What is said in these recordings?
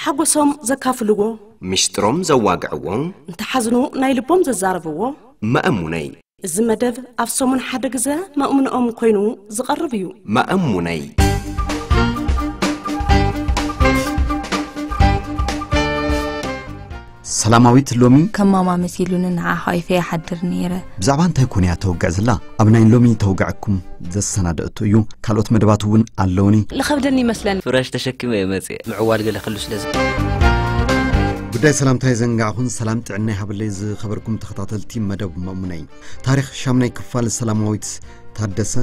ሓጎሶም ዘካፍልዎ፣ ምሽጥሮም ዘዋግዕዎ፣ እንተሓዝኑ ናይ ልቦም ዘዛረብዎ። መእሙነይ። እዚ መደብ ኣብ ሰሙን ሓደ ግዘ መእሙንኦም ኮይኑ ዝቐርብ እዩ። መእሙነይ። ሰላማዊት ሎሚ ከም ማማ መሲሉኒ ንዓኻ ይፈ ይሓድር ነይረ። ብዛዕባ እንታይ ኮን እያ ተውግዕ ዘላ? ኣብ ናይ ሎሚ ተውግዕኩም ዘሰናደእቶ እዩ። ካልኦት መደባት እውን ኣለውኒ። ልኸብደኒ ይመስለኒ። ፍራሽ ተሸኪመ እየ መፅእ። ምዕዋል ገለ ክህሉ ስለ ዝ- ጉዳይ ሰላምታ የዘንጋዕኹን ሰላም ጥዕና ይሃበለይ ዝኸበርኩም ተኸታተልቲ መደብ መእሙነይ። ታሪኽ ሻምናይ ክፋል ሰላማዊት ታደሰ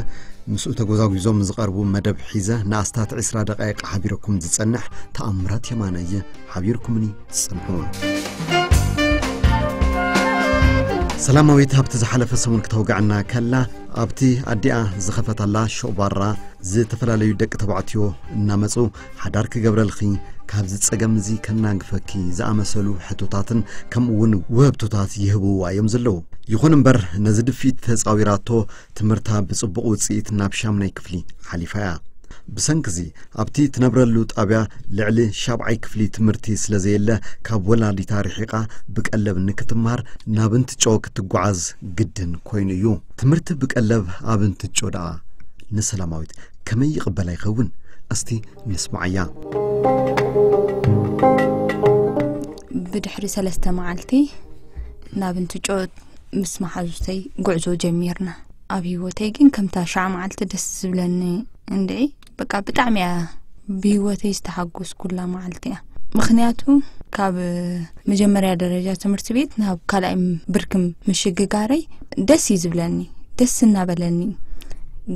ምስኡ ተጎዛጒዞም ዝቐርቡ መደብ ሒዘ ንኣስታት ዕስራ ደቃይቕ ሓቢረኩም ዝጸንሕ ተኣምራት የማነ እየ። ሓቢርኩምኒ ጽንሑ። ሰላማዊት ኣብቲ ዝሓለፈ ሰሙን ክተውግዐና ከላ ኣብቲ ኣዲኣ ዝኸፈታላ ሾባራ ዝተፈላለዩ ደቂ ተባዕትዮ እናመጹ ሓዳር ክገብረልኺ ካብዚ ጸገም እዚ ከናግፈኪ ዝኣመሰሉ ሕቶታትን ከምኡ እውን ውህብቶታት ይህብዋ እዮም ዘለዉ። ይኹን እምበር ነዚ ድፊት ተጻዊራቶ ትምህርታ ብጽቡቕ ውጽኢት ናብ ሻምናይ ክፍሊ ሓሊፋ እያ። ብሰንክዚ ኣብቲ ትነብረሉ ጣብያ ልዕሊ ሻብዓይ ክፍሊ ትምህርቲ ስለ ዘየለ ካብ ወላዲታ ርሒቓ ብቀለብ ንክትምሃር ናብ እንትጮ ክትጓዓዝ ግድን ኮይኑ እዩ። ትምህርቲ ብቀለብ ኣብ እንትጮ ደኣ ንሰላማዊት ከመይ ይቕበላ ይኸውን? እስቲ ንስማዓያ። ብድሕሪ ሰለስተ መዓልቲ ናብ እንትጮ ምስ መሓዙተይ ጉዕዞ ጀሚርና። ኣብ ህይወተይ ግን ከምታ ሻዕ መዓልቲ ደስ ዝብለኒ እንድዒ በቃ ብጣዕሚ እያ ብህይወተይ ዝተሓጎስኩላ መዓልቲ እያ። ምኽንያቱ ካብ መጀመርያ ደረጃ ትምህርቲ ቤት ናብ ካልኣይ ብርኪ ምሽግጋረይ ደስ እዩ ዝብለኒ። ደስ እናበለኒ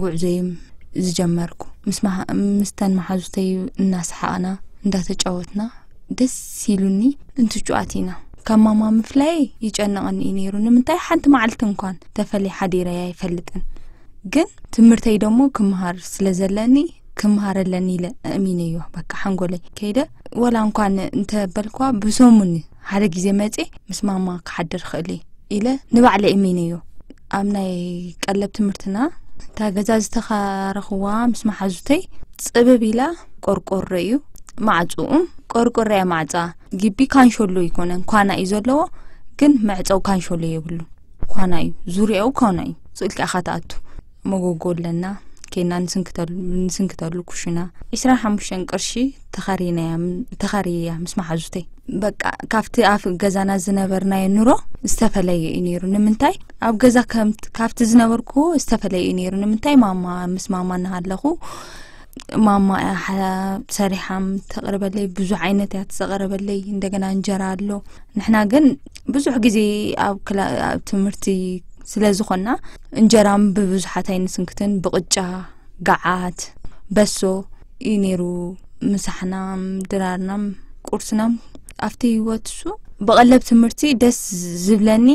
ጉዕዞይ ዝጀመርኩ ምስ መሃ- ምስተን መሓዙተይ እናሰሓቕና እንዳተጫወትና ደስ ኢሉኒ እንትጩኣት ኢና። ካብ ማማ ምፍላይ ይጨንቐኒ እዩ ነይሩ። ንምንታይ ሓንቲ መዓልቲ እንኳን ተፈልየ ሓዲረያ ኣይፈልጥን። ግን ትምህርተይ ደሞ ክምሃር ስለ ዘለኒ ክምሃር ኣለኒ ኢለ እሚነዮ። በቃ ሓንጎለይ ከይደ ወላ እንኳን እንተበልኳ ብሰሙን ሓደ ግዜ መጼ ምስ ማማ ክሓድር ክእል እየ ኢለ ንባዕለ እሚነዮ። ኣብ ናይ ቀለብ ትምህርትና እታ ገዛ ዝተኻረኽዋ ምስ መሓዙተይ ጽብብ ኢላ ቆርቆሮ እዩ ማዕጽኡም ቆርቆሮ እያ ማዕጻ። ግቢ ካንሾሎ ይኮነን ኳና እዩ ዘለዎ፣ ግን መዕጸው ካንሾሎ የብሉ። ኳና እዩ ዙሪያው ኳና እዩ። ስእልካ ኢኻ ትኣቱ። መጎጎ ኣለና ኬና ንስንክተሉ ንስንክተሉ ኩሽና ዕስራን ሓሙሽተን ቅርሺ ተኻሪናያ ተኻሪያ ምስ መሓዙተይ። በቃ ካብቲ ኣብ ገዛና ዝነበርናዮ ኑሮ ዝተፈለየ እዩ ነይሩ። ንምንታይ ኣብ ገዛ ከም ካብቲ ዝነበርኩ ዝተፈለየ እዩ ነይሩ። ንምንታይ ማማ ምስ ማማ እናሃለኹ ማማ እያ ሓ- ሰሪሓም ተቕርበለይ። ብዙሕ ዓይነት እያ ትዘቐረበለይ። እንደገና እንጀራ ኣሎ። ንሕና ግን ብዙሕ ግዜ ኣብ ክላ- ኣብ ትምህርቲ ስለ ዝኾና እንጀራም ብብዙሓት ኣይንስንክትን። ብቕጫ፣ ገዓት፣ በሶ እዩ ነይሩ ምሳሕናም ድራርናም ቁርስናም። ኣብቲ ህይወት እሱ ብቐለብ ትምህርቲ ደስ ዝብለኒ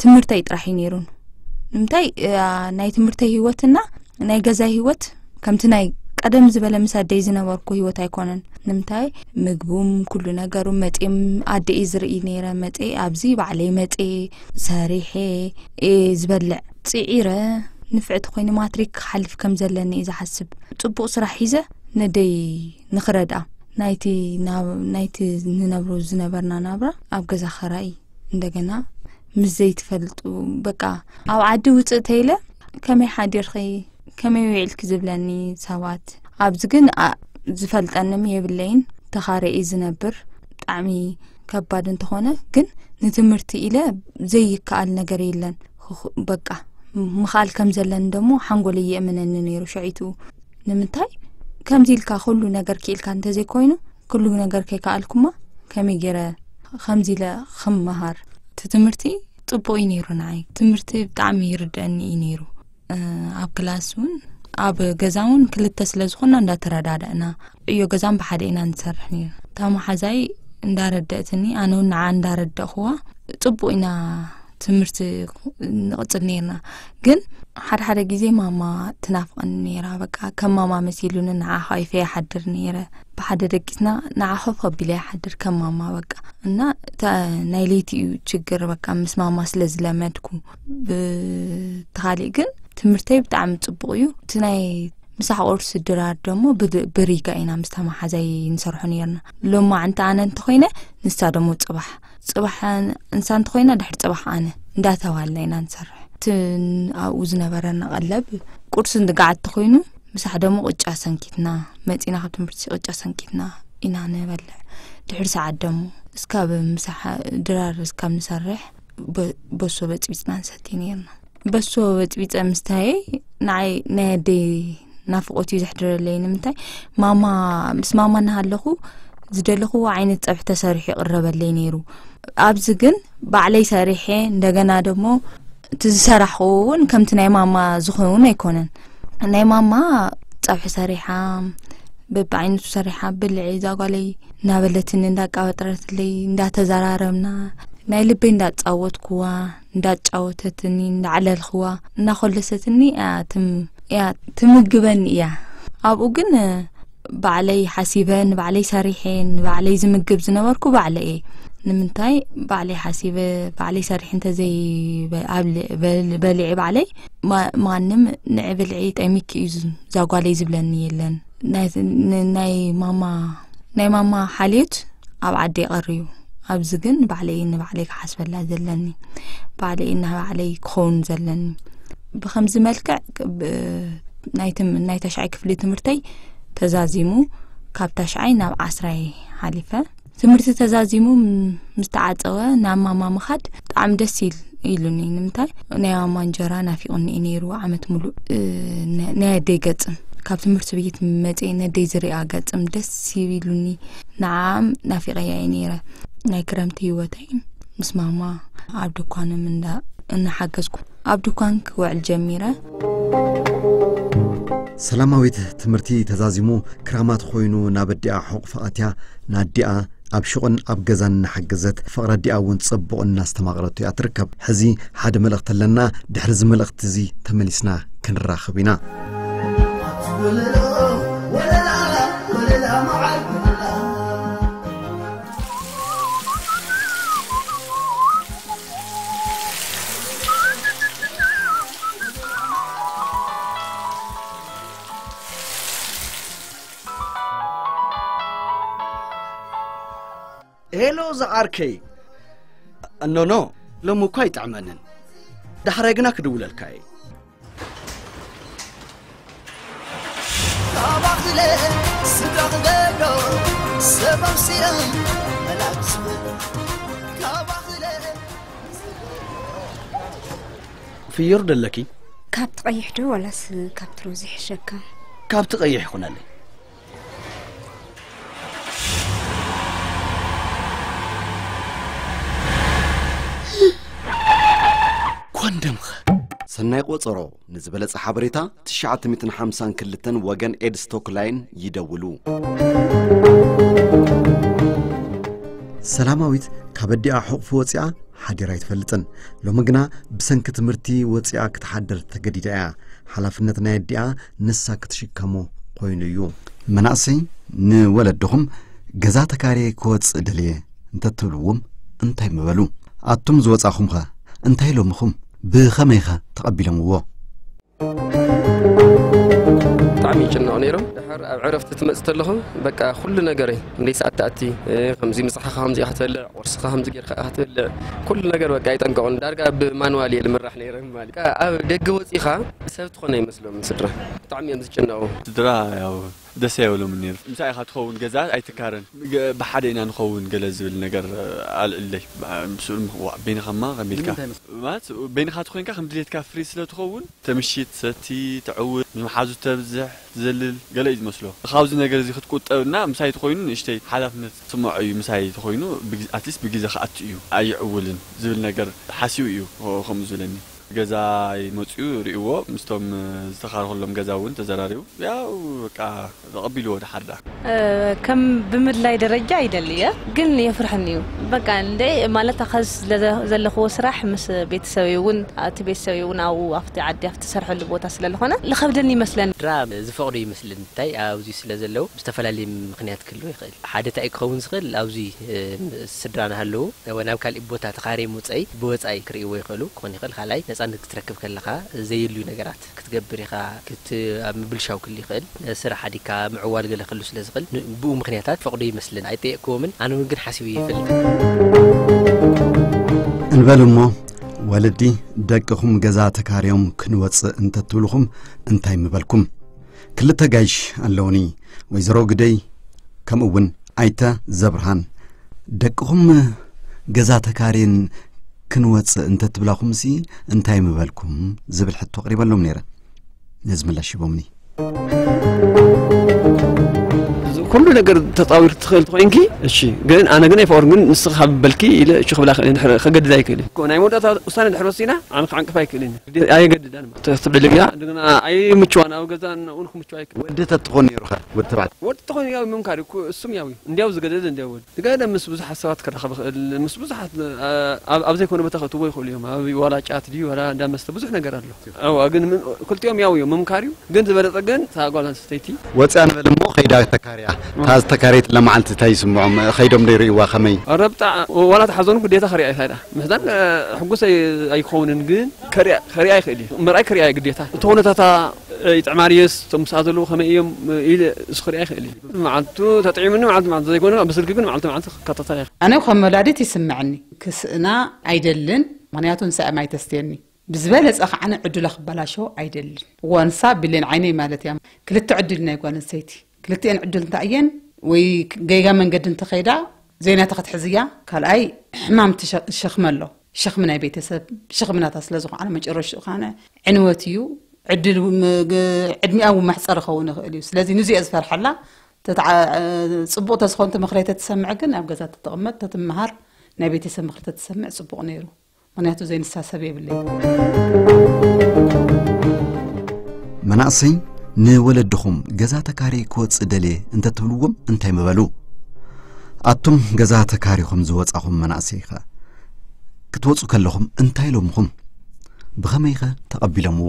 ትምህርተይ ጥራሕ እዩ ነይሩን። ንምንታይ እ፣ ናይ ትምህርተይ ህይወትና ናይ ገዛ ህይወት ከምቲ ናይ ቀደም ዝበለ ምስ ኣደይ ዝነበርኩ ህይወት ኣይኮነን። ንምንታይ ምግቡም ኩሉ ነገሩ መጤም ኣደይ ዝርኢ ነይረ። መጤ ኣብዚ ባዕለይ መጤ ሰሪሐ እየ ዝበልዕ። ጽዒረ ንፍዕቲ ኮይነ ማትሪክ ክሓልፍ ከም ዘለኒ እየ ዝሓስብ። ጽቡቕ ስራሕ ሒዘ ነደይ ንኽረድኣ ናይቲ ናብ- ናይቲ ንነብሮ ዝነበርና ናብራ ኣብ ገዛ ኸራይ እንደገና ምስ ዘይትፈልጡ በቃ ኣብ ዓዲ ውፅእ ተይለ ከመይ ሓዲርኺ ከመይ ውዒልኪ ዝብለኒ ሰባት ኣብዚ ግን ኣ- ዝፈልጠንም የብለይን። ተኻረ እዩ ዝነብር። ብጣዕሚ ከባድ እንተኾነ ግን ንትምህርቲ ኢለ ዘይከኣል ነገር የለን። ኽ- በቃ ምኽኣል ከም ዘለኒ ደሞ ሓንጎለይ የእምነኒ ነይሩ ሽዒቱ። ንምንታይ ከምዚ ኢልካ ኩሉ ነገር ክኢልካ እንተዘይኮይኑ ኩሉ ነገር ከይከኣልኩማ ከመይ ገይረ ከምዚ ኢለ ክመሃር? እቲ ትምህርቲ ጽቡቕ እዩ ነይሩ ንዓይ። ትምህርቲ ብጣዕሚ ይርድአኒ እዩ ነይሩ። እ፣ ኣብ ክላስ እውን ኣብ ገዛ እውን ክልተ ስለ ዝኾና እንዳተረዳዳእና ዕዮ ገዛን ብሓደ ኢና ንሰርሕ ነይሩ። እታ መሓዛይ እንዳረደእትኒ ኣነ እውን ንዓ እንዳረደእኽዋ ጽቡቕ ኢና ትምህርቲ ንቕጽል ነይርና። ግን ሓደ ሓደ ግዜ ማማ ትናፍቐኒ ነይራ። በቃ ከም ማማ መሲሉኒ ንዓ ኳይፈ ይሓድር ነይረ። ብሓደ ደቂስና ንዓ ኮፍ ኣቢለ ይሓድር ከም ማማ በቃ። እና እታ ናይ ለይቲ እዩ ችግር በቃ ምስ ማማ ስለ ዝለመድኩ። ብተኻሊእ ግን ትምህርተይ ብጣዕሚ ጽቡቕ እዩ። እቲ ናይ ምሳሕ ቁርሲ ድራር ደሞ ብድ-፣ ብሪጋ ኢና ምስታ መሓዛይ ንሰርሖ ነይርና። ሎማዓንቲ ኣነ እንተኾይነ፣ ንሳ ደሞ ጽባሕ። ጽባሕ ንሳ እንተኾይና፣ ድሕሪ ጽባሕ ኣነ እንዳተባልና ኢና ንሰርሕ። እቲ ኣብኡ ዝነበረና ቀለብ፣ ቁርሲ ንግዓት ተኾይኑ፣ ምሳሕ ደሞ ቅጫ ሰንኪትና፣ መጺና ካብ ትምህርቲ ቅጫ ሰንኪትና ኢና ንበልዕ። ድሕሪ ሰዓት ደሞ፣ እስካብ ምሳሕ ድራር እስካብ ንሰርሕ፣ በ-፣ በሶ በጽቢጽና ንሰቲ ነይርና። በሶ በጽቢጸ ምስታየይ፣ ንዓይ ናይ ኣደይ ናፍቆት እዩ ዘሕድረለይ። ንምንታይ? ማማ፣ ምስ ማማ እናሃለኹ ዝደለኽዎ ዓይነት ጸብሒ ተሰሪሑ ይቕረበለይ ነይሩ። ኣብዚ ግን ባዕለይ ሰሪሐ፣ እንደገና ደሞ እቲ ዝሰራሕኽዎ እውን ከምቲ ናይ ማማ ዝኸውን ኣይኮነን። ናይ ማማ ጸብሒ ሰሪሓ፣ በብዓይነቱ ሰሪሓ፣ ብልዒ እዛ ጓለይ እናበለትኒ፣ እንዳቃበጥረትለይ፣ እንዳተዘራረብና፣ ናይ ልበይ እንዳጻወትኩዋ፣ እንዳጫወተትኒ፣ እንዳዕለልኽዋ፣ እናኾለሰትኒ እያ ትም-፣ እያ ትምግበኒ እያ። ኣብኡ ግን ባዕለይ ሓሲበ፣ ንባዕለይ ሰሪሐ፣ ንባዕለይ ዝምግብ ዝነበርኩ ባዕለይ እየ። ንምንታይ? ባዕለይ ሓሲበ፣ ባዕለይ ሰሪሐ እንተዘይ በ-፣ ኣብ ል-፣ በል-፣ በሊዐ ባዕለይ፣ ማ-፣ ማንም ንዒ ብልዒ ጠሚኪ እዩ ዝ-፣ እዛ ጓለይ ዝብለኒ የለን። ናይ፣ ን-፣ ናይ ማማ፣ ናይ ማማ ሓልዮት ኣብ ዓዲ ይቐሪ እዩ። ኣብዚ ግን ባዕለይ ንባዕለይ ክሓስበላ ዘለኒ፣ ባዕለይ ንባዕለይ ክኸውን ዘለኒ። ብኸምዚ መልክዕ ብ-፣ ናይ ትም-፣ ናይ ተሽዓይ ክፍሊ ትምህርተይ ተዛዚሙ፣ ካብ ተሽዓይ ናብ ዓስራይ ሓሊፈ። ትምህርቲ ተዛዚሙ ም-፣ ምስ ተዓጸወ ናብ ማማ ምኻድ ብጣዕሚ ደስ ኢል-፣ ኢሉኒ። ንምንታይ? ናይ ማማ እንጀራ ናፊቑኒ እዩ ነይሩ ዓመት ሙሉእ። እ፣ ነ-፣ ናይ ኣደይ ገጽም፣ ካብ ትምህርቲ ቤት መጽየ ነደይ ዝሪኣ ገጽም ደስ ኢሉኒ። ንዓኣም ናፊቐያ እየ ነይረ። ናይ ክረምቲ ህይወተይ ምስ ማማ ኣብ ድኳኖም እንዳ-፣ እናሓገዝኩ ኣብ ድኳን ክውዕል ጀሚረ። ሰላማዊት ትምህርቲ ተዛዚሙ ክራማት ኮይኑ ናብ ኣዲኣ ሕቑፋ ኣትያ፣ ንኣዲኣ ኣብ ሹቕን ኣብ ገዛን እናሓገዘት፣ ፍቕሪ ኣዲኣ እውን ጽቡቕ እናስተማቕረቶ እያ ትርከብ። ሕዚ ሓደ መልእኽቲ ኣለና፣ ድሕሪ እዚ መልእኽቲ እዚ ተመሊስና ክንራኸብ ኢና። ሄሎ ዝዓርከይ። ኖኖ፣ ሎሚ እኳ ኣይጥዕመንን። ዳሕራይ ግና ክድውለልካ እየ። ካባኽለ ስድራ ክገዶ ሰብ ኣምሲለ መላክ ዝብል። ካባኽለ ፍዮር ደለኪ? ካብቲ ቀይሕ ዶ ዋላስ ካብቲ ሮዝ ይሕሸካ? ካብቲ ቀይሕ ይኹነለይ። ኮንደምኸ? ሰናይ ቆጸሮ። ንዝበለጸ ሓበሬታ ትሽዓተ ሚእትን ሓምሳን ክልተን ወገን ኤድስ ቶክላይን ይደውሉ። ሰላማዊት ካብ ኣዲኣ ሕቑፊ ወጺኣ ሓዲራ ኣይትፈልጥን። ሎሚ ግና ብሰንኪ ትምህርቲ ወጺኣ ክትሓድር ተገዲዳ እያ። ሓላፍነት ናይ ኣዲኣ ንሳ ክትሽከሞ ኮይኑ እዩ። መናእሰይ ንወለድኹም ገዛ ተካርየ ክወጽእ ደልየ እንተትብልዎም እንታይ ምበሉ? ኣቱም ዝወጻኹምኸ እንታይ ኢሎምኹም? ብኸመይኸ ተቐቢሎምዎ? ብጣዕሚ ይጭነቑ ነይሮም። ድሓር ኣብ ዕረፍቲ ትመጽእ ተለኹ፣ በቃ ኩሉ ነገረይ፣ ክንደይ ሰዓት ትኣቲ፣ እ፣ ከምዚ ምሳሕኻ ከምዚ ኢኻ ትበልዕ፣ ቁርስኻ ከምዚ ጌርካ ኢኻ ትበልዕ፣ ኩሉ ነገር በቃ ይጠንቀቑን። ዳርጋ ብማንዋል እየ ልምራሕ ነይረ ማለት። በቃ ኣብ ደገ ወጺኻ ሰብ ትኾነ ይመስሎም ስድራ። ብጣዕሚ እዮም ዝጭነቑ። ስድራ ያው ደስ ኣይብሎምን ነይሩ። ምሳይ ኢኻ ትኸውን ገዛ ኣይትካረን። ገ-፣ ብሓደ ኢና ንኸውን ገለ ዝብል ነገር ኣልዕለይ። ብ-፣ ምስኡ ም-፣ ዋ፣ በይንኻማ ከመይ ኢልካ? ንምንታይ መስ- ማለት በይንኻ ተኾይንካ ከም ድሌትካ ፍሪ ስለ ትኸውን፣ ተምሽት፣ ሰቲ፣ ትዕውት፣ ምስ መሓዙ ተብዝሕ፣ ትዘልል፣ ገለ እዩ ዝመስሎ። ካብዚ ነገር እዚ ክትቁጠብና ምሳይ ተኾይኑ ንእሽተይ ሓላፍነት ትስምዖ እዩ። ምሳይ ተኾይኑ ብግ-፣ ኣትሊስት ብግዜ ክኣቱ እዩ፣ ኣይዕውልን ዝብል ነገር ሓሲቡ እዩ ከ-፣ ከምኡ ዝብለኒ። ገዛ ይመፅኡ ርእይዎ፣ ምስቶም ዝተኻረኸሎም ገዛ እውን ተዘራሪቡ። ያው በቃ ተቐቢልዎ ድሓር ዳ። እ፣ ከም ብምድላይ ደረጃ ይደሊ እየ፣ ግን የፍርሐኒ እዩ። በቃ እንደ ማለት ኣኸ ስለ ዘ-፣ ዘለኽዎ ስራሕ ምስ ቤተሰበይ እውን፣ እቲ ቤተሰበይ እውን ኣብኡ ኣብቲ ዓዲ ኣብቲ ዝሰርሐሉ ቦታ ስለ ዝኾነ ልኸብደኒ ይመስለኒ። ስድራ ዝፈቕዶ ይመስለኒ። እንታይ ኣብዚ ስለ ዘለዉ ብዝተፈላለየ ምኽንያት ክህልዎ ይኽእል። ሓደ እንታይ ክኸውን ዝኽእል ኣብዚ፣ እ፣ ስድራ እናሃለዉ ወይ ናብ ካሊእ ቦታ ተኻርየ ምውፀይ ብወፃኢ ክርእይዎ ይኽእሉ ክኾን ይኽእል። ካልኣይ ነፃ ክትረክብ ከለኻ ዘየድልዩ ነገራት ክትገብር ኢኻ። ክት ኣብ ምብልሻው ክል ይኽእል፣ ስራሕ ኣዲካ ምዕዋል ገለ ክሉ ስለ ዝኽእል፣ ን- ብኡ ምኽንያታት ፈቕዶ ይመስልን ኣይጠየቅክዎምን። ኣነ እውን ግን ሓሲቡ ይፈልጥ። እንበል እሞ፣ ወለዲ ደቅኹም ገዛ ተካርዮም ክንወፅእ እንተትብልኹም እንታይ ምበልኩም? ክልተ ጋይሽ ኣለውኒ፣ ወይዘሮ ግደይ ከምኡ እውን ኣይተ ዘብርሃን። ደቅኹም ገዛ ተካርየን ክንወፅእ እንተትብላኹምሲ እንታይ ምበልኩም? ዝብል ሕቶ ኣቕሪበሎም ነይረ። ነዚ ምላሽ ሂቦምኒ። ኩሉ ነገር ተፃዊር ትኽእል ትኾይንኪ። እሺ፣ ግን ኣነ ግን ኣይፈቅር፣ ግን ንስኻ በልኪ ኢለ እሺ ክብላ ይኽእል፣ ድሕሪ ከገድዳ ይኽእል። እኮ ናይ መወዳእታ ውሳነ ድሕሪ ወሲና ኣነ ክዓንቅፋ ኣይክእልን። ኣየገድዳን ማለት ትብልልያ። እንደገና ኣይምችዋን፣ ኣብ ገዛ እውን ክምችዋ ኣይክእል። ወዲ ተትኾን ነይሩኸ? ወዲ ተባዕታይ? ወዲ ተኾይኑ ያው ምምካር እኮ እሱም ያው እዩ። እንዲያው ዝገደደ እንዲያው ወዲ። ዝገደደ ምስ ብዙሓት ስባት ክራኸብ ይኽእል፣ ምስ ብዙሓት ኣብ ዘይኮነ ቦታ ከእትዎ ይኽእሉ እዮም። ኣብ ዋላ ጫት ድዩ ዋላ እንዳ መስተ ብዙሕ ነገር ኣሎ። ኣዋ ግን ምን- ክልቲኦም ያው እዮም ምምካር እዩ። ግን ዝበለጸ ግን እታ ጓል ኣንስተይቲ ወፅያ ንበል እሞ ከይዳ ተካርያ። እታ ዝተካረየትላ መዓልቲ እንታይ ይስምዖም? ከይዶም ዶ ይርእይዋ ከመይ? ረብጣ ዋላ ተሓዘኑ ግዴታ ከሪያ ይኽእል። ምሕዛን ሕጉስ ኣይ- ኣይክኸውንን ግን ከሪያ ከሪያ ይኽእል እዩ። ምርኣይ ከሪያ እዩ ግዴታ። እቲ ኩነታታ ይጥዕማ ድየስ፣ እቶም ምስኣ ዘለዉ ከመይ እዮም ኢለ እሱ ክሪኣ ይኽእል እዩ። መዓልቱ ተጥዒሙኒ መዓልቲ መዓልቲ ዘይኮነ ብስልኪ ግን መዓልቲ መዓልቲ ክከታተላ ይኽእል። ኣነ ከም ወላዲት ይስምዐኒ። ክስእና ኣይደልን። ምኽንያቱ ንሳ እያ ማይ ተስትየኒ። ብዝበለፀ ከዓ ዕድላ ክበላሾ ኣይደልን። እዋ ንሳ ብሌን ዓይነይ ማለት እያ። ክልተ ዕድል ናይ ጓል ኣንስተይቲ። ክልቲኤን ዕድል እንታይ እየን? ወይ ገይጋ መንገዲ እንተኸይዳ ዘይናታ ክትሕዝያ። ካልኣይ ሕማም ትሸ- ሸኽሚ ኣሎ። ሸኽሚ ናይ ቤተሰብ ሸኽሚ ናታ ስለ ዝኾነ መጨረሽኡ ካነ ዕንወት እዩ። ዕድል ም- ግ- ዕድሚኣ እውን ማሕፀር ክኸውን ይኽእል እዩ። ስለዚ ንዚኦ ዝፈርሓላ ተተዓ- ፅቡቕ ተዝኾን እቲ ምኽሪ ተትሰምዕ ግን ኣብ ገዛ ተተቕመጥ ተትመሃር ናይ ቤተሰብ ምኽሪ ተትሰምዕ ፅቡቕ ነይሩ። ምክንያቱ ዘይንሳሰብ የብለይ። መናእሰይ ንወለድኹም ገዛ ተካሪ ክወፅእ ደልየ እንተትብልዎም እንታይ ምበሉ? ኣቱም ገዛ ተካሪኹም ዝወፃኹም መናእሰይኸ ክትወፁ ከለኹም እንታይ ኢሎምኹም? ብኸመይኸ ተቐቢሎምዎ?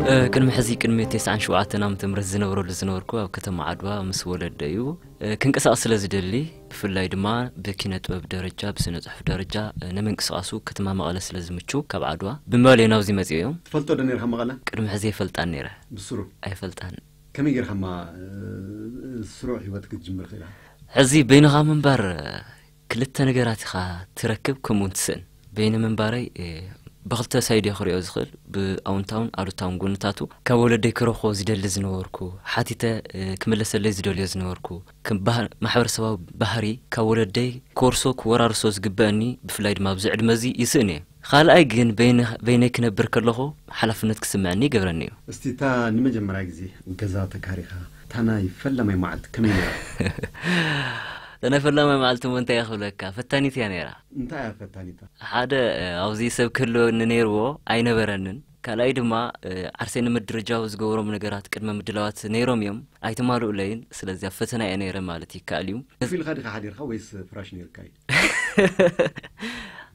እ፣ ቅድሚ ሕዚ ቅድሚ ተስዓን ሸውዓተን ዓመተ ምህረት ዝነብረሉ ዝነበርኩ ኣብ ከተማ ዓድዋ ምስ ወለደዩ እ፣ ክንቀሳቐስ ስለ ዝደሊ ብፍላይ ድማ ብኪነ ጥበብ ደረጃ ብስነ ጽሑፍ ደረጃ እ፣ ንምንቅስቃሱ ከተማ መቐለ ስለ ዝምቹ ካብ ዓድዋ ብምባል እዮም ናብዚ መጺኦም እዮም። ትፈልጦ ዶ ነርካ መቐለ? ቅድሚ ሕዚ ኣይፈልጣን ነይረ። ብስሩ? ኣይፈልጣን። ከመይ ጌርካ እማ ስሩዕ ህይወት ክትጅምር ክኢላ? ሕዚ በይንኻ ምንባር ክልተ ነገራት ኢኻ ትረክብ ከምኡ እውን ትስእን። በይነ ምንባረይ ብክልተ ሳይድ እየ ክሪኦ ዝኽእል፣ ብኣውንታውን ኣሉታውን ጎንታቱ። ካብ ወለደይ ክረኽቦ ዝደሊ ዝነበርኩ፣ ሓቲተ ክምለሰለይ ዝደልዮ ዝነበርኩ፣ ከም ማሕበረሰባዊ ባህሪ ካብ ወለደይ ክወርሶ ክወራርሶ ዝግበአኒ፣ ብፍላይ ድማ ኣብዚ ዕድመ እዚ ይስእን እየ። ካልኣይ ግን በይነይ ክነብር ከለኹ ሓላፍነት ክስምዐኒ ይገብረኒ እዩ። እስቲ እታ ንመጀመርያ ግዜ ገዛ ተካሪኻ እታ ናይ ፈላማይ መዓልቲ ከመይ ነይራ? እታ ናይ ፈላማይ መዓልቲ እሞ እንታይ እየ ክብለካ፣ ፈታኒት እያ ነይራ። እንታይ እያ ፈታኒታ? ሓደ ኣብዚ ሰብ ክህልወኒ ነይርዎ ኣይነበረንን። ካልኣይ ድማ ዓርሰይ ንምድርጃው ዝገብሮም ነገራት ቅድመ ምድላዋት ነይሮም እዮም፣ ኣይተማልኡለይን። ስለዚ ኣብ ፈተና እየ ነይረ ማለት ይከኣል እዩ። ኮፍ ኢልካ ዲኻ ሓዲርካ ወይስ ፍራሽ ነይርካ እዩ?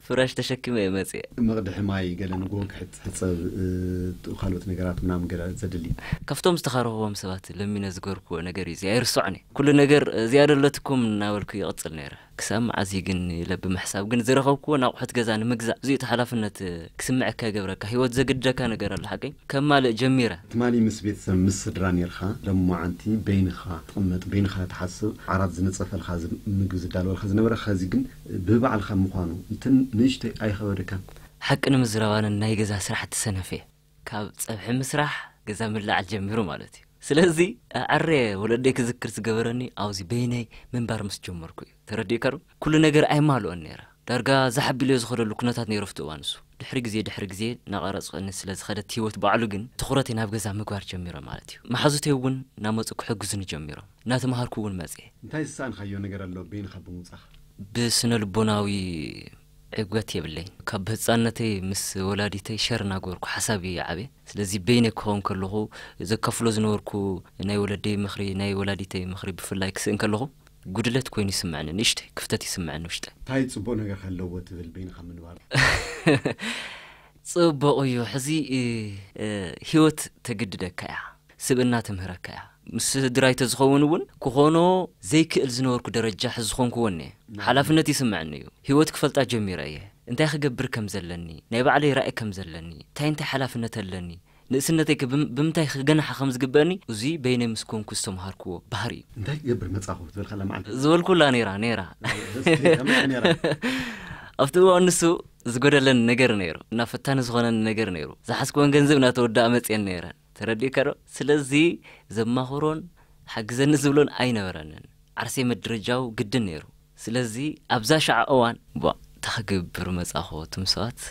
ፍራሽ ተሸኪመ እየ መፅየ። መቕድሒ ማይ ገለ ንጎ ክሕፀብ፣ ካልኦት ነገራት ምናምን ገለ ዘድሊ። ካብቶም ዝተኻረኽዎም ሰባት ለሚነ ዝገርክዎ ነገር እዩ፣ እዚ ኣይርስዖን እየ። ኩሉ ነገር ዝያዳ ኣለትኩም እናበልኩ ይቕፅል ነይረ። ክሳብ መዓዝ እዩ ግን ኢለ ብምሕሳብ ግን ዝረኸብክዎ ናቑሑት ገዛ ንምግዛእ እዚኡ እቲ ሓላፍነት ክስምዐካ ይገብረካ። ህይወት ዘግድደካ ነገር ኣሎ ሓቀይ ከማልእ ጀሚረ። ትማሊ ምስ ቤተሰብ ምስ ስድራ ነርካ፣ ለማዓንቲ በይንኻ ትቕመጥ በይንኻ ትሓስብ፣ ዓራት ዝነፀፈልካ ምግቢ ዝዳለወልካ ዝነበረ ኸዚ ግን ብባዕልኻ ምዃኑ እንትን ንእሽተይ ኣይኸበደካን? ሓቂ ንምዝራብ ኣነ ናይ ገዛ ስራሕቲ ሰነፍ እየ። ካብ ፀብሒ ምስራሕ ገዛ ምልዓል ጀሚሩ ማለት እዩ። ስለዚ ኣዕረ ወለደይ ክዝክር ዝገበረኒ ኣብዚ በይነይ ምንባር ምስ ጀመርኩ እዩ። ተረዲእካ ዶ? ኩሉ ነገር ኣይማልኦን ነይረ። ዳርጋ ዛሕ ኣቢለዮ ዝኸደሉ ኩነታት ነይሩ ኣብቲ እዋን እሱ። ድሕሪ ግዜ ድሕሪ ግዜ እናቐረፅቀኒ ስለ ዝኸደት ህይወት ባዕሉ ግን ትኹረተይ ናብ ገዛ ምግባር ጀሚረ ማለት እዩ። መሓዙተይ እውን እናመፁ ክሕግዙኒ ጀሚሮም። እናተምሃርኩ እውን መፅየ። እንታይ ዝሰኣንካዮ ነገር ኣሎ በይንኻ ብምውፃኻ? ብስነ ልቦናዊ ዕግበት የብለይን። ካብ ህፃንነተይ ምስ ወላዲተይ ሸር እናገበርኩ ሓሳብ እየ ዓብየ። ስለዚ በይነይ ክኸውን ከለኹ ዘካፍሎ ዝነበርኩ ናይ ወለደይ ምኽሪ ናይ ወላዲተይ ምኽሪ ብፍላይ ክስእን ከለኹ ጉድለት ኮይኑ ይስምዐኒ፣ ንእሽተይ ክፍተት ይስምዐኒ ውሽጠ። እንታይ ፅቡቕ ነገር ኣለዎ ትብል በይንኻ ምንባር? ፅቡቕ እዩ። ሕዚ ህይወት ተግድደካ እያ፣ ስብእና ትምህረካ እያ። ምስ ስድራይ ተዝኸውን እውን ክኾኖ ዘይክእል ዝነበርኩ ደረጃ ሕዚ ዝኾንኩዎ እኒአ። ሓላፍነት ይስምዐኒ እዩ። ህይወት ክፈልጣ ጀሚረ እየ። እንታይ ክገብር ከም ዘለኒ፣ ናይ ባዕለይ ራእይ ከም ዘለኒ፣ እንታይ እንታይ ሓላፍነት ኣለኒ፣ ንእስነተይ ከ ብም- ብምንታይ ክገናሓ ከም ዝግበአኒ፣ እዙይ በይነይ ምስ ኮንኩ ዝተምሃርክዎ ባህሪ እዩ። እንታይ ክገብር መጻኹ ዝበልካላ መዓልቲ? ዝበልኩላ ነይራ ነይራ ኣብቲ እዋን ንሱ ዝጎደለኒ ነገር ነይሩ እና ፈታኒ ዝኾነኒ ነገር ነይሩ። ዝሓዝክዎን ገንዘብ እናተወዳኣ መፅየን ነይረን። ተረዲእካ ዶ? ስለዚ ዘማኽሮን ሓግዘኒ ዝብሎን ኣይነበረንን። ዓርሰይ መድረጃው ግድን ነይሩ። ስለዚ ኣብዛ ሸዓ እዋን ቧ ተኽግብር መጻኹ ትምሰዋት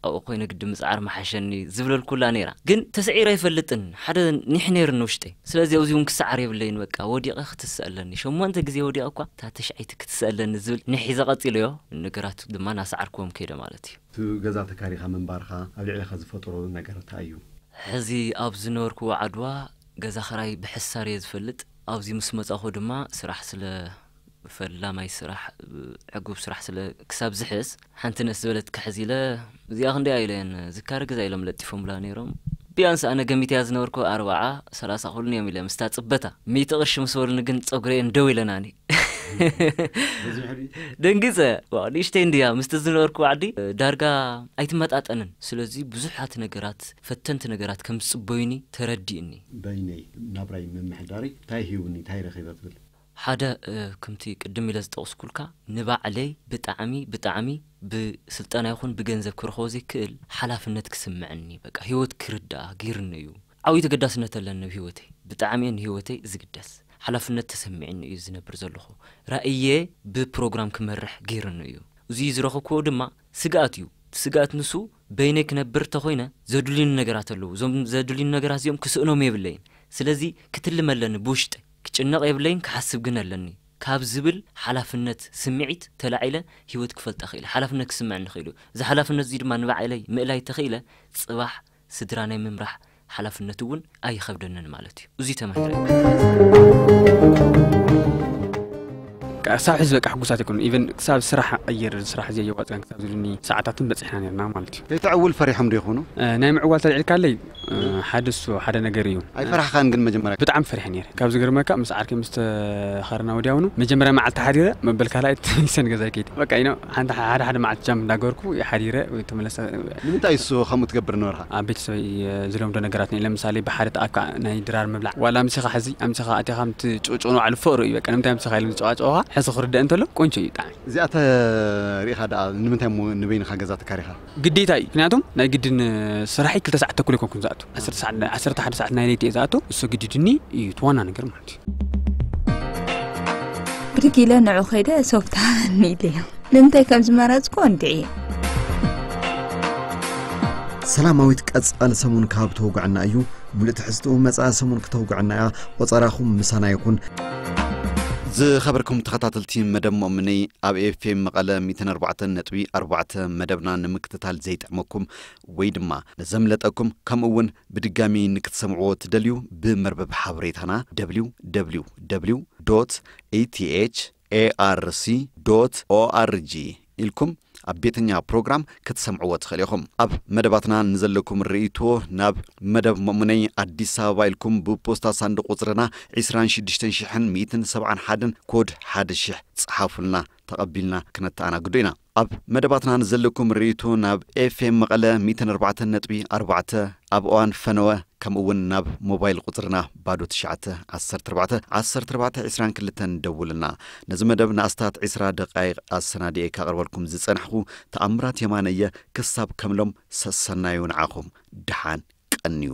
ኣብኡ ኮይነ ግዲ ምጽዓር መሓሸኒ ዝብለልኩላ ነይራ። ግን ተስዒረ ኣይፈልጥን። ሓደ ኒሕ ነይርኒ ውሽጠይ። ስለዚ ኣብዚ እውን ክሰዓር የብለይን። በቃ ወዲቐ ክትስእ ኣለኒ። ሸሞንተ ግዜ ወዲቐ እኳ እታ ተሽዐይቲ ክትስእ ኣለኒ ዝብል ኒሕ ሒዘ ቀጺለዮ። ነገራት ድማ እናሰዓርክዎም ከይደ ማለት እዩ። እቲ ገዛ ተካሪኻ ምንባርካ ኣብ ልዕሊኻ ዝፈጠሮ ነገር እንታይ እዩ? ሕዚ ኣብ ዝነበርክዎ ዓድዋ ገዛ ኽራይ ብሕሳር እየ ዝፈልጥ። ኣብዚ ምስ መጻኹ ድማ ስራሕ ስለ ፈላማይ ስራሕ ዕጉብ ስራሕ ስለ ክሳብ ዝሕዝ ሓንቲ ንእስ ዝበለት ክሕዝ ኢለ እዚኣ ክንደያ ኢለን ዝካረ ገዛ ኢሎም ለጢፎምላ ነይሮም። ቢያንስ ኣነ ገሚተያ ዝነበርኩ ኣርባዓ ሰላሳ ክብሉን እዮም ኢለ ምስታ ጽበታ ሚእቲ ቅርሺ ምስ በሉኒ ግን ጸጉረየን ደው ኢለናኒ። ደንጊጸ። ዋው፣ ንእሽተይ እንድያ ምስቲ ዝነበርኩ ዓዲ ዳርጋ ኣይትመጣጠንን። ስለዚ ብዙሓት ነገራት፣ ፈተንቲ ነገራት ከም ዝጽበዩኒ ተረዲእኒ። በይነይ ናብራይ ምምሕዳረይ እንታይ ሂቡኒ እንታይ ረኺበ ትብል? ሓደ እ፣ ከምቲ ቅድም ኢለ ዝጠቕስኩልካ ንባዕለይ ብጣዕሚ ብጣዕሚ ብስልጠና ይኹን ብገንዘብ ክረኽቦ ዘይክእል ሓላፍነት ክስምዐኒ በቃ ህይወት ክርዳኣ ገይርኒ እዩ። ዓብዪ ተገዳስነት ኣለኒ ኣብ ህይወተይ። ብጣዕሚ እየ ንህይወተይ ዝግደስ። ሓላፍነት ተሰሚዕኒ እዩ ዝነብር ዘለኹ። ራእየ ብፕሮግራም ክመርሕ ገይርኒ እዩ። እዙይ ዝረኸብክዎ ድማ ስግኣት እዩ። እቲ ስግኣት ንሱ በይነይ ክነብር ተኾይነ ዘድልዩኒ ነገራት ኣለዉ። እዞም ዘድልዩኒ ነገራት እዚኦም ክስእኖም የብለይን። ስለዚ ክትልም ኣለኒ ብውሽጠይ። ክጭነቕ የብለይን ክሓስብ ግን ኣለኒ ካብ ዝብል ሓላፍነት ስምዒት ተላዒለ ህይወት ክፈልጣ ክኢለ። ሓላፍነት ክስምዐኒ ክኢሉ። እዚ ሓላፍነት እዚ ድማ ንባዕለይ ምእላይ ተኽኢለ ጽባሕ ስድራ ናይ ምምራሕ ሓላፍነት እውን ኣይኸብደንን ማለት እዩ። እዙይ ተማሂረ። ክሳብ ሕዚ በቃ ሕጉሳት ኣይኮኑ ኢቨን ክሳብ ስራሕ ቀይር ስራሕ እዚ የዋፅን ክሳብ ዝብልኒ ሰዓታትን በፂሕና ነርና ማለት እዩ። ከይተዕውል ፈሪሖም ዶ ይኾኑ? ናይ ምዕዋል ተልዒልካለይ ሓደ እሱ ሓደ ነገር እዩ። ኣይፈራሕካን ግን መጀመርያ? ብጣዕሚ ፈሪሐ ነይረ። ካብ ዝገርመካ ምስ ዓርከይ ምስ ተኸርና ወዲያውኑ መጀመርያ መዓልቲ ሓዲረ መበል ካልኣይ ተመሊሰ ንገዛይ ከይደ በቃ ኢኖ ሓንቲ ሓደ ሓደ መዓልቲ ጃም እንዳገበርኩ ሓዲረ ተመለሰ። ንምንታይ እሱ ከምኡ ትገብር ነበርካ? ኣብ ቤተሰበይ ዝለምዶ ነገራት ነ ለምሳሌ ብሓደ ተኣካ ናይ ድራር ምብላዕ ዋላ ኣምሲኻ ሕዚ ኣምሲኻ ኣቲኻ ምቲ ጭቅጭቅ ንባዕሉ ፍቅሪ እዩ በቃ ንምንታይ ኣምሲኻ ኢሎም ዝጨቃጨቁኻ ሕዚ ክርደእ እንተሎ ቆንጆ እዩ ብጣዕሚ። እዚኣ ተሪኢኻ ደኣ ንምንታይ እሞ ንበይንኻ ገዛ ተካሪኻ? ግዴታ እዩ ምክንያቱም ናይ ግድን ስራሐይ ክልተ ሰዓት ተኩል ኣይኮንኩን ዝኣቱ ዓሰርተ ሓደ ሰዓት ናይ ለይቲ እየ ዝኣቱ እሱ ግድድኒ እዩ እቲ ዋና ነገር ማለት እዩ። ብድግ ኢለ ንዑ ከይደ ሶፍት ሃበኒ ኢለዮ ንምንታይ ከም ዝመረፅኩ እንድዒ። ሰላማዊት ቀፃሊ ሰሙን ካብ ተውግዐና እዩ። ሙሉእ ትሕዝትኡ መፃኢ ሰሙን ክተውግዐና እያ። ቆፀራኹም ምሳና ይኹን። ዝኸበርኩም ተኸታተልቲ መደብ ሞእምነይ ኣብ ኤፍኤም መቐለ ሚእትን ኣርባዕተን ነጥቢ ኣርባዕተ መደብና ንምክትታል ዘይጥዕመኩም ወይ ድማ ንዘምለጠኩም ከምኡ እውን ብድጋሚ ንክትሰምዕዎ ትደልዩ ብመርበብ ሓበሬታና www ኢቲኤች ኤኣርሲ ኦኣርጂ ኢልኩም ኣብ ቤተኛ ፕሮግራም ክትሰምዕዎ ትኽእል ኢኹም። ኣብ መደባትና ንዘለኩም ርእይቶ ናብ መደብ መእሙነይ ኣዲስ ኣበባ ኢልኩም ብፖስታ ሳንዱቕ ቁፅርና ዕስራን ሽዱሽተን ሽሕን ሚእትን ሰብዓን ሓደን ኮድ ሓደ ሽሕ ጸሓፉልና። ተቐቢልና ክነተኣናግዶ ኢና። ኣብ መደባትና ንዘለኩም ርእይቶ ናብ ኤፍኤም መቐለ ሚእትን ኣርባዕተን ነጥቢ ኣርባዕተ ኣብ እዋን ፈነወ ከምኡ እውን ናብ ሞባይል ቁፅርና ባዶ ትሽዓተ ዓሰርተ ኣርባዕተ ዓሰርተ ኣርባዕተ ዕስራን ክልተን ደውልና። ነዚ መደብ ንኣስታት ዕስራ ደቃይቕ ኣሰናዲኤ ካቕርበልኩም ዝጸናሕኹ ተኣምራት የማነ እየ። ክሳብ ከምሎም ሰሰናዩ ንዓኹም። ደሓን ቀንዩ።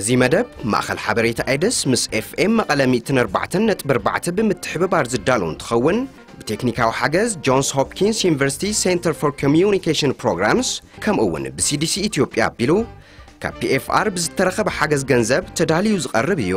እዚ መደብ ማእኸል ሓበሬታ ኤድስ ምስ ኤፍኤም መቐለ ሚእትን ኣርባዕተን ነጥቢ ኣርባዕተ ብምትሕብባር ዝዳሎ እንትኸውን ብቴክኒካዊ ሓገዝ ጆንስ ሆፕኪንስ ዩኒቨርሲቲ ሴንተር ፎር ኮሚዩኒኬሽን ፕሮግራምስ ከምኡ እውን ብሲዲሲ ኢትዮጵያ ኣቢሉ ካብ ፒኤፍኣር ብዝተረኸበ ሓገዝ ገንዘብ ተዳልዩ ዝቐርብ እዩ።